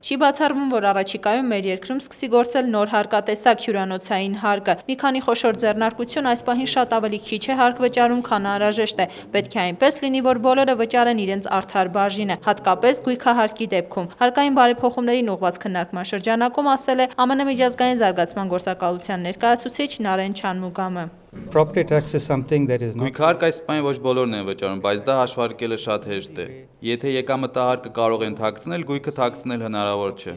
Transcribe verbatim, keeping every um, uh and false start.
Չի բացառվում, որ առաջիկայում մեր երկրում սկսի գործել նոր հարկատեսակ հյուրանոցային հարկը։ Մի քանի խոշոր ձեռնարկություն այս պահին շատ ավելի քիչ է հարկ վճարում, քան անհրաժեշտ է։ Պետք է այնպես լինի, որ բոլորը վճարեն իրենց արդար բաժինը, հատկապես գույքահարկի դեպքում։ Հարկային բարեփոխումներին ուղղված քննարկման շրջանակում ասել է ԱՄՆ միջազգային զարգացման գործակալության ներկայացուցիչ Նարեն Չանմուգամը։ Գույքահարկ այս պահին ոչ բոլորն են վճարում, բայց դա հաշվարկելը շատ հեշտ է։ Եթե եկամտահարկը կարող են թաքցնել, գույքը թաքցնել հնարավոր չէ։